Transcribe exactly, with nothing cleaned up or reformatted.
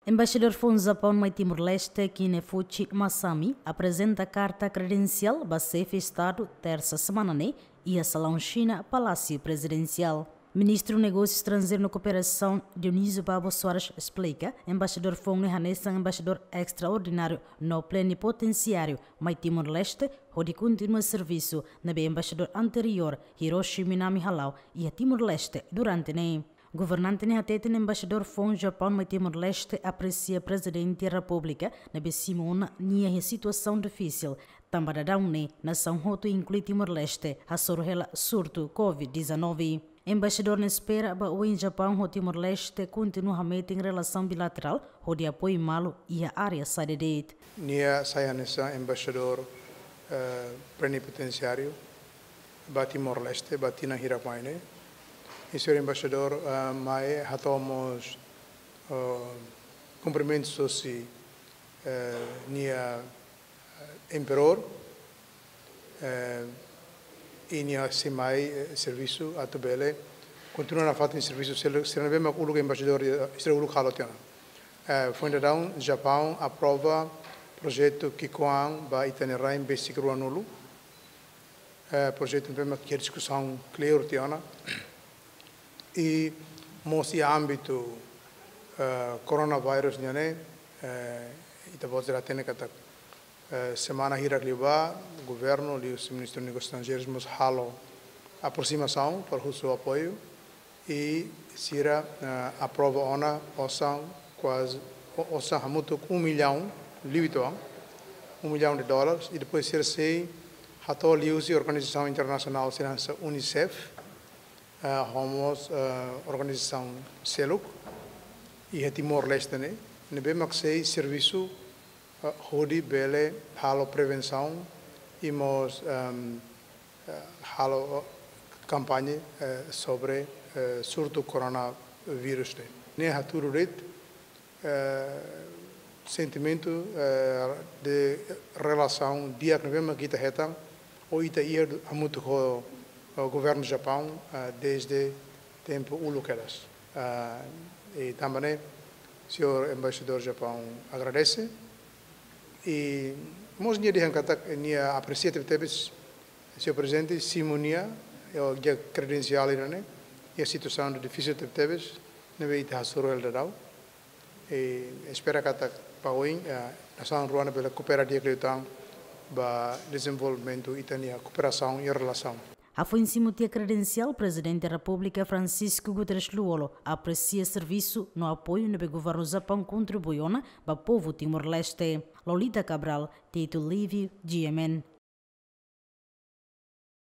Embaixadór foun Japaun mai Timor-Leste, Kinefuchi Masami, aprezenta karta kredensiál ba xefe Estadu tersa semana ne'e, iha salaun Xina, Palásiu Prezidensiál. Ministru Negósiu Estranjeiru no Kooperasaun, Dionísio Babo Soares, esplika, embaixadór foun ne'e hanesan embaixadór estraordináriu no plenipotensiáriu mai Timor-Leste, hodi kontinua servisu ne'ebé embaixadór anteriór, Hiroshi Minami, hala'o iha Timor-Leste durante ne'e. Governante ne'e hateten embaixadór foun Japaun mai Timor-Leste apresia Prezidente Repúblika ne'ebé simu ona nia iha situasaun difisil, tanba daudaun ne'e nasaun hotu, inklui Timor-Leste, hasoru hela surtu covid dezanove. Embaixadór ne'e espera ba oin Japaun ho Timor-Leste kontinua hametin relasaun bilaterál hodi apoiu malu iha área saida de'it. Nia sai hanesan embaixadór, eh, plenipotensiáriu ba Timor-Leste, ba tinan hirak mai ne'e. I señór embaixadór, eh, mai hato'o mós, eh, kumprimentus hosi, eh, nia, eh, imperadór, eh, i nia sei mai, eh, servisu atu bele kontinua nafatin servisu sira, sira ne'ebé mak uluk embaixadór, eh, sira uluk halo tiha ona. Eh, foin daudaun, Japaun aprova projetu ki'ikoan ba ita-nia rain besik ruanulu. Eh, projetu ne'ebé mak iha diskusaun clear tiha ona. I mós iha ámbitu, eh, coronavirus nian ne'e, eh, ita-boot sira hatene katak, eh, semana hirak liubá, governu liuhusi Ministériu Negósius Estranjeirus mós halo aprosimasaun para husu apoiu, i sira, eh, aprova ona osan kuaze, o-, osan hamutuk um milhão, liu uitoan, um milhão de dólares, i depois sira sei hato'o liuhusi organizasaun internasionál sira hanesan UNICEF, eh, ho mós, eh, organizasaun seluk iha Timor-Leste ne'e, ne'ebé mak sei servisu, eh, hodi bele halo prevensaun i mós, ehm, eh, halo kampaña, eh, sobre, eh, surtu coronavirus ne'e. Ne'e hatudu de'it, eh, sentimentu, eh, de relasaun di'ak ne'ebé mak ita hetan, ou ita iha hamutuk ho, ho governu Japaun, eh, desde tempu uluk kedas. Eh, i tanba ne'e, señór embaixadór Japaun agradese. I mós nia dehan katak nia apresia tebetebes, señór Prezidente simu nia, iha kredensiál ida-ne'e, iha situasaun difisil tebetebes, ne'ebé ita hasoru hela daudaun. I espera katak ba oin, eh, nasaun rua ne'e bele koopera di'ak liután ba dezenvolvimentu ita-nia kooperasaun i relasaun. Hafoin simu tiha kredensiál, Prezidente Repúblika Francisco Guterres Lú-Olo apresia servisu no apoiu ne'ebé governu Japaun kontribui ona ba povu Timor-Leste. Lolita Cabral, Tito Livio, G M N.